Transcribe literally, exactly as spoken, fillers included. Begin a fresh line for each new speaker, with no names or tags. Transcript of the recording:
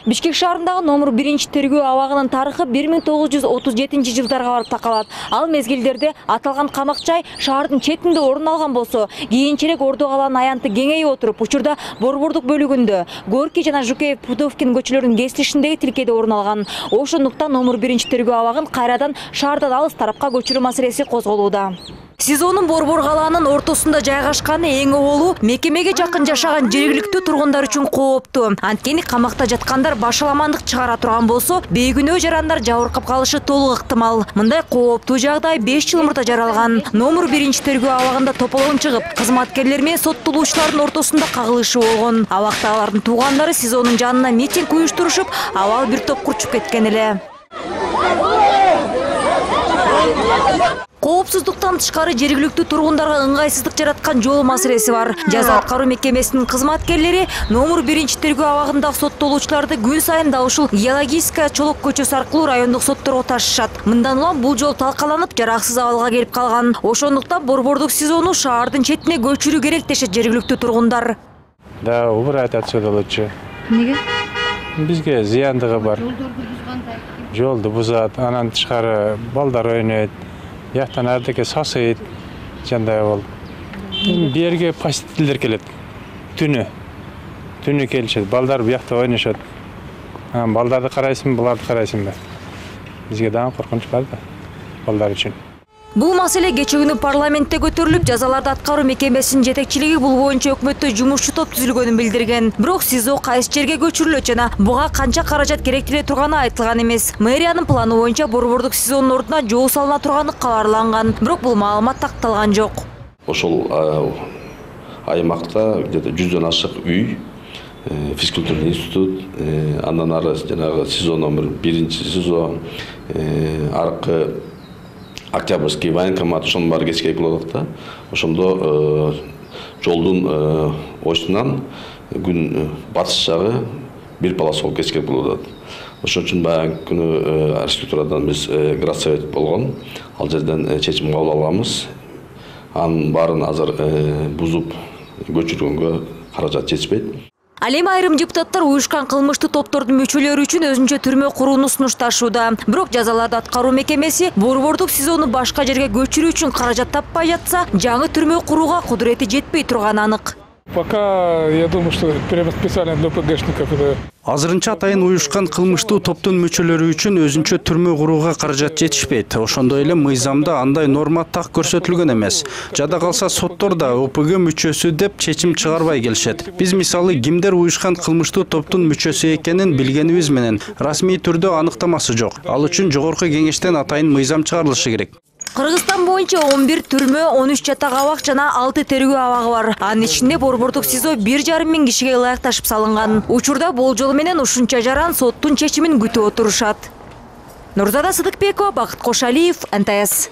Бишкек шаарындагы номер биринчи тергөө абагынын тарыхы бир миң тогуз жүз отуз жетинчи жылдарга барып такалат. Ал мезгилдерде аталган камак жай шаардын четинде орун алган болсо, кийинчерээк Ордо калаанын аянты кеңейип отуруп, учурда Борбордук бөлүгүндө Горький жана Жукеев Пудовкин көчөлөрүнүн кесилишиндеги тилкеде орун алган. Ошондуктан номер биринчи тергөө абагын кайрадан шаардан алыс тарапка көчүрүү маселеси козголууда. СИЗОнун Борбор калаанын ортосунда жайгашканы эң оолу мекемеге жакын жашаган жергиликтүү тургундар үчүн кооптуу. Анткени камакта жаткандар башаламандык чыгара турган болсо, бейгүнөө жарандар жабыркап калышы толук ыктымал. Мындай кооптуу жагдай беш жыл мурда жаралган. Номер биринчи тергөө абагында тополоң чыгып, кызматкерлер менен соттолуучулардын ортосунда кагылышуу болгон. Абакта алардын туугандары СИЗОнун жанына митинг уюштурушуп, абал бир топ курчуп кеткен эле. Коопсуздуктан тышкары жергиликтүү тургундарга ыңгайсыздык жараткан жол маселеси бар. Жаза аткаруу мекемесинин кызматкерлери номер биринчи тергөө абагындагы соттолуучуларды күн сайын да ушул Геологическая Чолок көчөсү аркылуу райондук сотторго ташышат. Мындан улам бул жол талкаланып, жараксыз абалга келип калган. Ошондуктан Борбордук СИЗОну шаардын четине көчүрүү керек дешет жергиликтүү тургундар.
Да, убрать отсюда лучше.
Неге?
Бизге зыяндыгы бар. Жолду бузат, анан тышкары балдар ойнойт. Яктан ардеке сасыйт, жандай бол. Берге посетителдер келет. Түнү. Түнү келишет. Балдар буякта ойношот. Балдарды карайсың, буларды карайсың. Бизге дагы коркунуч бар да, балдар үчүн.
Бул маселе кече күнү парламентте көтөрүлүп, жазаларды аткаруу мекемесинин жетекчилиги бул боюнча өкмөттө жумушчу топ түзүлгөнүн билдирген. Бирок СИЗО кайсы жерге көчүрүлөт жана буга канча каражат керектеле турганы айтылган эмес. Мэриянын планы боюнча Борбордук СИЗОнун ордуна жол салына турганы кабарланган. Бирок бул маалымат такталган жок.
Ошол аймакта где-то жүздөн ашык үй, физкультурный институт, андан ары жанагы СИЗО номер биринчи СИЗО, аркы Октябрьский военкомат, ошонун баары кечке болот да. Ошондо жолдун оштунан күн батыш жагы бир полосо кечке болот. Ошон үчүн баягы күнү архитектурадан биз градсовет болгон. Ал жерден чечим кабыл алганбыз. Анын баарын азыр бузуп көчүргөнгө каражат жетишпейт.
Ал эми айрым депутаттар уюшкан кылмыштуу топтордун мүчөлөрү үчүн өзүнчө түрмө курууну сунушташууда. Бирок жазаларды аткаруу мекемеси Борбордук СИЗОну башка жерге көчүрүү үчүн каражат таппай жатса, жаңы түрмө курууга кудурети жетпей турганы анык.
Пока я думаю, что прямо специально для ПГшников это.
Азырынча атайын уюшкан кылмыштуу топтун мүчөлөрү үчүн өзүнчө түрмө курууга каражат жетишпейт. Ошондой эле мыйзамда андай норма так көрсөтүлгөн эмес. Жада калса соттор да ОПГ мүчөсү деп чечим чыгарбай келишет. Биз мисалы кимдер уюшкан кылмыштуу топтун мүчөсү экенин билгенибиз менен расмий түрдө аныктамасы жок. Ал үчүн жогорку кеңештен атайын мыйзам чыгарылышы керек.
Кыргызстан боюнча он бир түрмө, он үч жатак абак жана алты тергөө абагы бар. Анын ичинде Борбордук СИЗО бир жарым миң кишиге ылайыкташып салынган. Учурда болжол менен ушунча жаран соттун чечимин күтүп отурушат. Нурзада Сыдыкбекова, Бакыт Кошалиев, эн тэ эс.